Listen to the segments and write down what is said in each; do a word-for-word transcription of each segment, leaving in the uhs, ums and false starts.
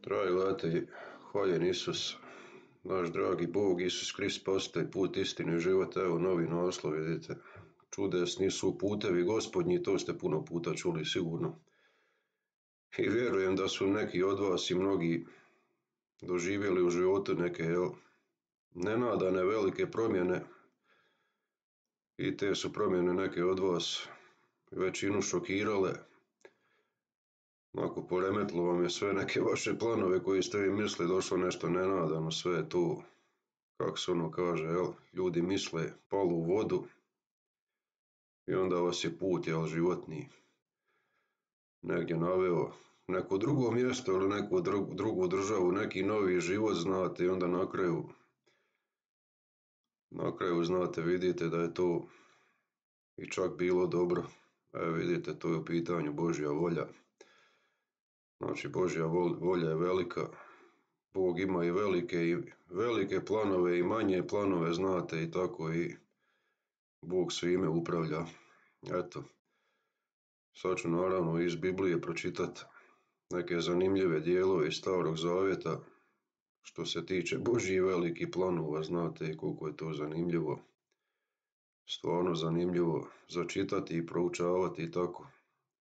Dragi gledatelji, hvaljen Isus, naš dragi Bog, Isus Krist postaje put, istine i život. Evo novi naslov, vidite. Čudesni su putevi Gospodnji, to ste puno puta čuli sigurno. I vjerujem da su neki od vas i mnogi doživjeli u životu neke jel, nenadane velike promjene i te su promjene neke od vas većinu šokirale. Ako poremetilo vam je sve neke vaše planove koji ste vi mislili, došlo nešto nenadano, sve je tu, kako se ono kaže, jel, ljudi misle, palo u vodu i onda vas je put, jel, životni negdje naveo neko drugo mjesto ili neku drugu državu, neki novi život, znate, i onda na kraju na kraju znate, vidite da je to i čak bilo dobro. E, vidite, to je u pitanju Božja volja. Znači, Božja volja je velika. Bog ima i velike, i velike planove i manje planove, znate, i tako i Bog svime upravlja. Eto, sad ću naravno iz Biblije pročitati neke zanimljive dijelove iz Starog Zavjeta što se tiče Božjih velikih planova, znate i koliko je to zanimljivo. Stvarno zanimljivo začitati i proučavati i tako.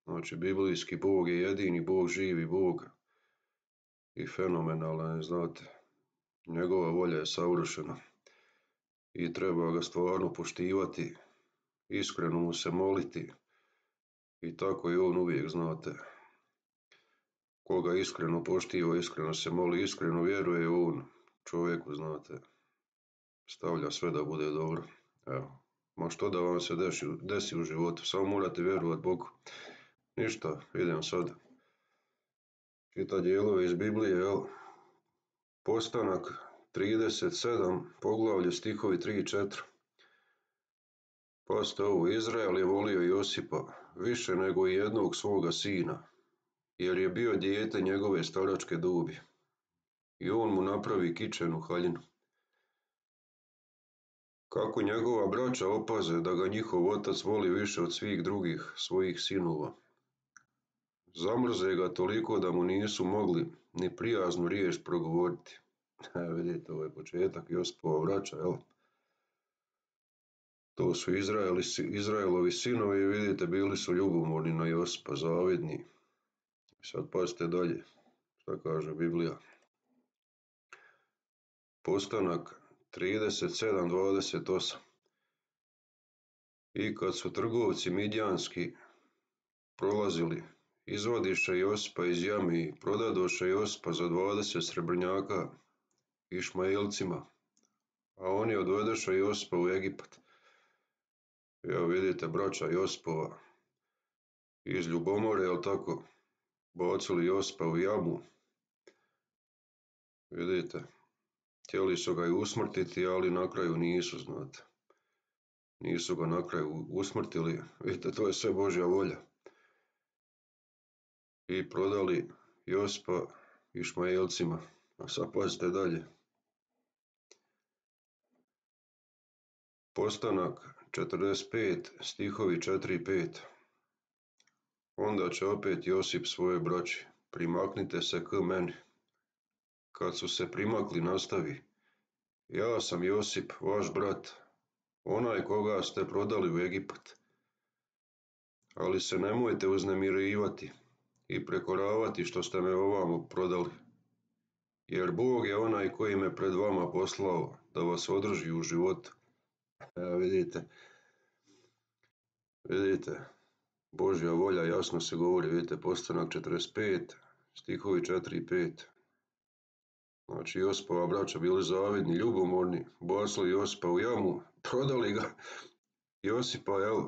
Znači, biblijski Bog je jedini Bog, živi Bog i fenomenalan, znate. Njegova volja je savršena i treba ga stvarno poštivati, iskreno mu se moliti i tako i on uvijek, znate. Koga iskreno poštiva, iskreno se moli, iskreno vjeruje on čovjeku, znate. Stavlja sve da bude dobro. Evo, ma što da vam se desi, desi u životu, samo morate vjerovati Bogu. Ništa, idem sad čitati dijelove iz Biblije, jel? Postanak trideset sedam, poglavlje stihovi tri i četiri. Pazite ovo, Izrael je volio Josipa više nego i jednog svoga sina, jer je bio dijete njegove staračke dobi. I on mu napravi kičenu haljinu. Kako njegova braća opaze da ga njihov otac voli više od svih drugih svojih sinova. Zamrze ga toliko da mu nisu mogli ni prijaznu riječ progovoriti. E, vidite, ovo je početak Josipova braća, jel? To su Izraeli, Izraelovi sinovi i vidite, bili su ljubomorni na Josipa, zavidni. Sad pazite dalje, šta kaže Biblija. Postanak trideset sedam dvadeset osam. I kad su trgovci midjanski prolazili, izvadiše Josipa iz jame i prodadoše Josipa za dvadeset srebrnjaka Išmaelcima, a oni odvedeše Josipa u Egipat. Evo vidite, braća Josipova iz ljubomore, jel tako, bacili Josipa u jamu. Vidite, htjeli su ga i usmrtiti, ali na kraju nisu, znate. Nisu ga na kraju usmrtili, vidite, to je sve Božja volja. I prodali Josipa Išmaelcima. A sad pazite dalje. Postanak četrdeset pet, stihovi četiri i pet. Onda će opet Josip svoje braći, primaknite se k meni. Kad su se primakli, nastavi. Ja sam Josip, vaš brat, onaj koga ste prodali u Egipat. Ali se nemojte uznemirivati i prekoravati što ste me ovamo prodali. Jer Bog je onaj koji me pred vama poslao da vas održi u životu. Evo vidite, vidite, Božja volja jasno se govori, vidite, Postanak četrdeset pet, stihovi četiri i pet. Znači, Josipova braća bili zavidni, ljubomorni, bacili Josipa u jamu, prodali ga Josipa, jel,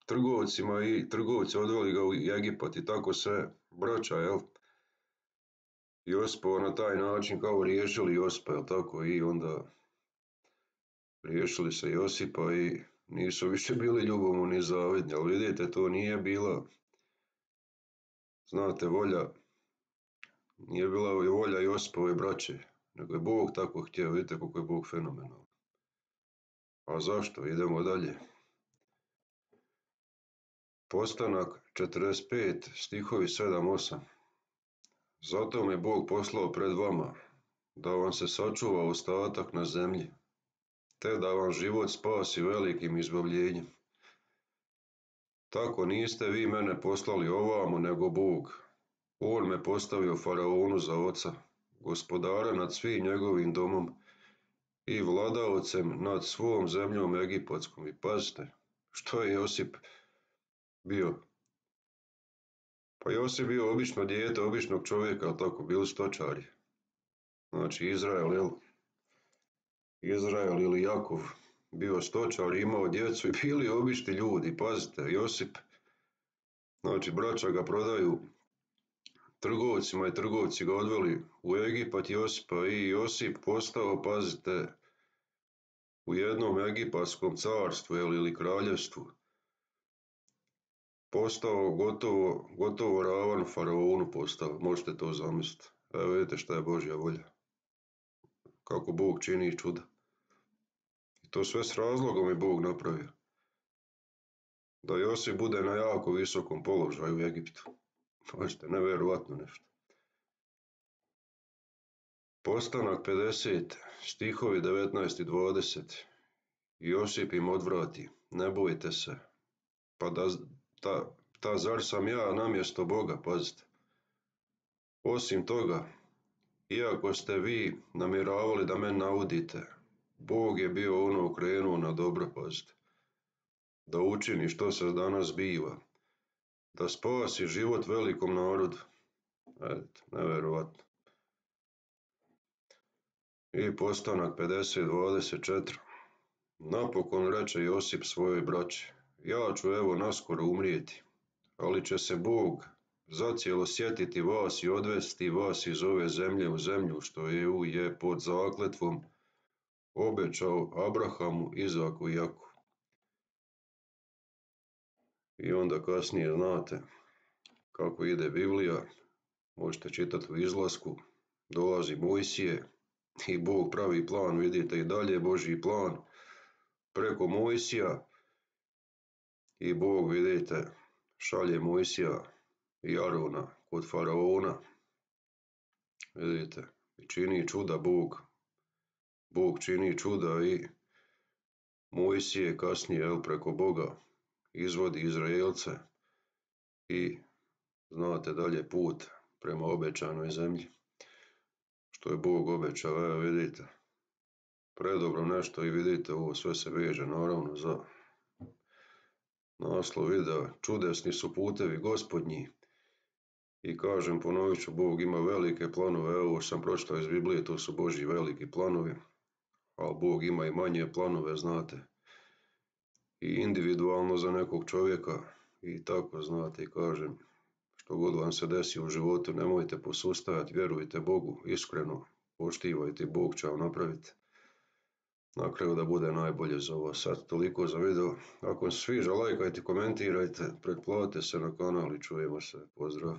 trgovcima i trgovci odveli ga u Egipat i tako sve, braća, jel. Josipova na taj način kao riješili Josipa, jel tako, i onda riješili se Josipa i nisu više bili ljubomorni i zavidni, ali vidite, to nije bila, znate, volja, nije bila volja Josipove braće, nego je Bog tako htio, vidite koliko je Bog fenomenalan. A zašto? Idemo dalje. Postanak četrdeset pet, stihovi sedam osam. Zato me Bog poslao pred vama, da vam se sačuva ostatak na zemlji, te da vam život spasi velikim izbavljenjem. Tako niste vi mene poslali ovamo, nego Bog. On me postavio faraonu za oca, gospodara nad svim njegovim domom i vladaocem nad svom zemljom egipatskom. I pazite, što je Josip bio? Pa Josip bio obično dijete običnog čovjeka, ali tako, bili stočari. Znači Izrael, jel? Izrael ili Jakov bio stočar, imao djecu i bili obični ljudi. Pazite, Josip, znači braća ga prodaju trgovcima i trgovci ga odveli u Egipat Josipa i Josip postao, pazite, u jednom egipatskom carstvu ili kraljevstvu, postao gotovo, gotovo ravan faraonu postao, možete to zamisliti. Evo vidite šta je Božja volja, kako Bog čini čuda. I to sve s razlogom je Bog napravio. Da Josip bude na jako visokom položaju u Egiptu. Možete, nevjerovatno nešto. Postanak pedeset, stihovi devetnaest i dvadeset. Josip im odvrati, ne bojte se, pa da, ta, ta zar sam ja namjesto Boga, pazite. Osim toga, iako ste vi namjeravali da me naudite, Bog je bio ono okrenuo na dobro, pazite. Da učini što se danas biva, da spasi život velikom narodu. Edite, nevjerovatno. I postanak pedeset dvadeset četiri. Napokon reče Josip svojoj braći, ja ću evo naskoro umrijeti, ali će se Bog zacijelo sjetiti vas i odvesti vas iz ove zemlje u zemlju što je, je pod zakletvom obećao Abrahamu, Izaku i Jakovu. I onda kasnije znate kako ide Biblija, možete čitati u Izlasku, dolazi Mojsije i Bog pravi plan, vidite i dalje Božji plan preko Mojsija i Bog, vidite, šalje Mojsija i Arona kod faraona, vidite, i čini čuda Bog, Bog čini čuda i Mojsije kasnije, jel, preko Boga izvodi Izraelce i znate dalje put prema obećanoj zemlji, što je Bog obećao, evo vidite, predobro nešto i vidite, ovo sve se veže naravno za naslov videa, čudesni su putevi Gospodnji. I kažem, ponovit ću, Bog ima velike planove, evo sam pročitao iz Biblije, to su Božji veliki planovi, ali Bog ima i manje planove, znate, i individualno za nekog čovjeka i tako, znate, i kažem, što god vam se desi u životu, nemojte posustajati, vjerujte Bogu, iskreno, poštivajte, Bog će vam napraviti na kraju da bude najbolje za vas. Sad toliko za video, ako vam se sviđa, lajkajte, komentirajte, pretplatite se na kanal i čujemo se, pozdrav.